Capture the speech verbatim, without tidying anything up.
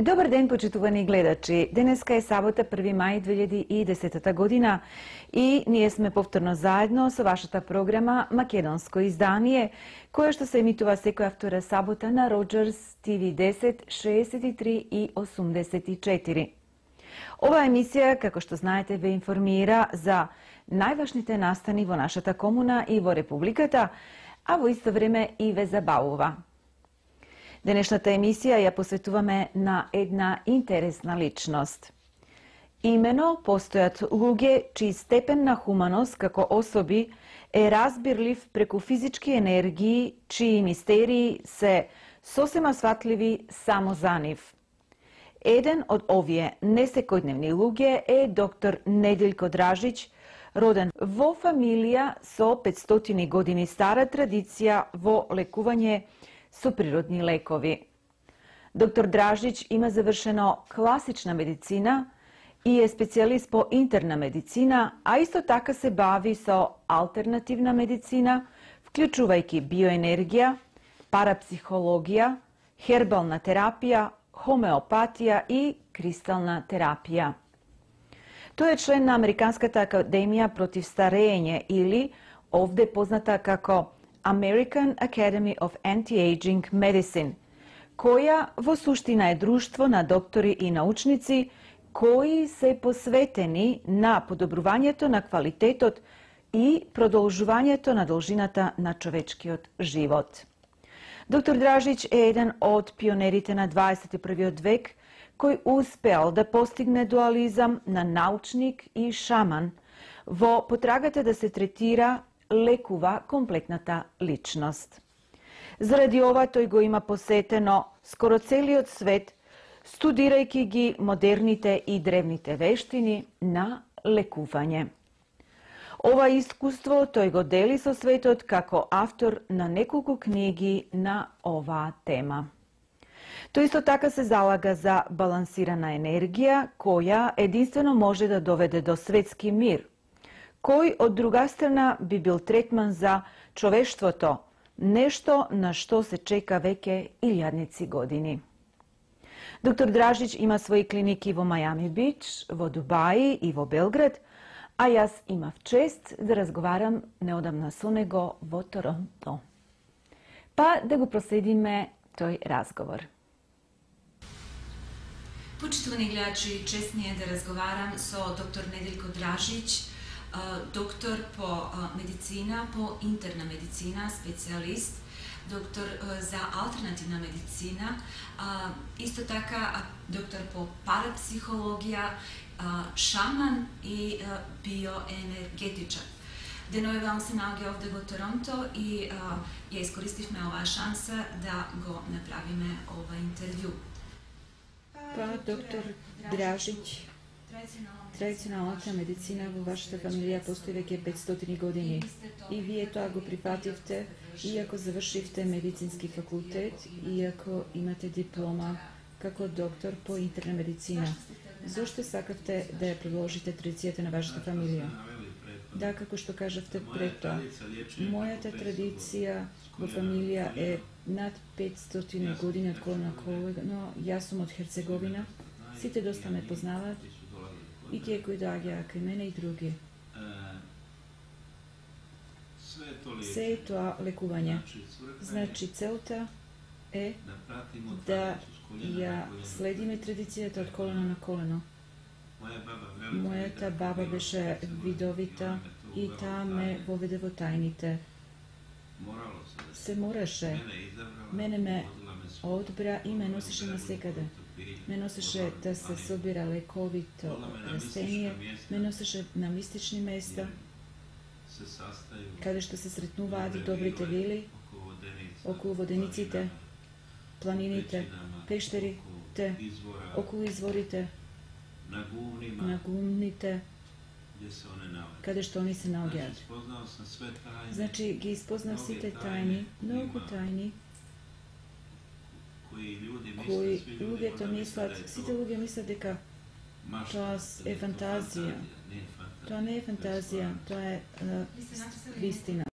Добар ден, почитувани гледачи. Денеска е сабота, први мај две илјади и десета година и ние сме повторно заедно со вашата програма Македонско издание, која што се емитува секоја втора сабота на Роџерс Ти Ви десет, шеесет и три и осумдесет и четири. Оваа емисија, како што знаете, ве информира за најважните настани во нашата комуна и во Републиката, а во исто време и ве забавува. Денешната емисија ја посветуваме на една интересна личност. Имено постојат луѓе чиј степен на хуманост како особи е разбирлив преку физички енергии, чии мистерии се сосема сватливи само за нив. Еден од овие несекојдневни луѓе е доктор Неделјко Дражич, роден во фамилија со петстотини години стара традиција во лекување со природни лекови. Доктор Дражич има завршено класична медицина и е специјалист по интерна медицина, а исто така се бави со алтернативна медицина, вклучувајќи биоенергија, парапсихологија, хербална терапија, хомеопатија и кристална терапија. Тој е член на Американската академија против старење или овде позната како American Academy of Anti-Aging Medicine, која во суштина е друштво на доктори и научници кои се посветени на подобрувањето на квалитетот и продолжувањето на должината на човечкиот живот. Доктор Дражич е еден од пионерите на дваесет и првиот век кој успеал да постигне дуализам на научник и шаман во потрагата да се третира лекува комплетната личност. Заради ова тој го има посетено скоро целиот свет, студирајќи ги модерните и древните вештини на лекување. Ова искуство тој го дели со светот како автор на неколку книги на оваа тема. Тој исто така се залага за балансирана енергија, која единствено може да доведе до светски мир, кој од друга страна би бил третман за човештвото, нешто на што се чека веќе илјадници години. Доктор Дражич има своји клиники во Мајами Бич, во Дубај и во Белград, а јас имав чест да разговарам неодамна со него во Торонто. Па да го проследиме тој разговор. Почитувани гледачи, чест ми е да разговарам со доктор Неделјко Дражич, доктор по медицина, по интерна медицина, специјалист, доктор за алтернативна медицина, исто така доктор по парапсихологија, шаман и биоенергетичар. Деновивам се наоѓа овде во Торонто и ја искористивме оваа шанса да го направиме ова интервју. Па, доктор Дражич, традиционалната медицина во вашата фамилија постои веќе петстотини години и вие тоа го прифативте, иако завршивте медицински факултет, иако имате диплома како доктор по интерна медицина. Зошто сакавте да ја продолжите традицијата на вашата фамилија? Да, како што кажавте пред тоа, мојата традиција во фамилија е над петстотини години од колено на колено. Јас сум од Херцеговина, сите доста ме познаваат, и тие кои доаѓаа кај мене и други. Се е тоа лекување. Значи, целта е да ја следиме традицијата од колено на колено. Мојата баба беше видовита и таа ме воведе во тајните. Се мораше. Мене ме одбра и ме носеше насекаде. Ме носеше да се собира лековито растение, ме носеше на мистични места, каде што се сретнуваат добрите вили, околу водениците, планините, пештерите, околу изворите, на гумните, каде што они се наоѓаат. Значи, ги испознав сите тајни, многу тајни, кои луѓето мислат, сите луѓе мислат дека тоа е фантазија. Тоа не е фантазија, тоа е вистина.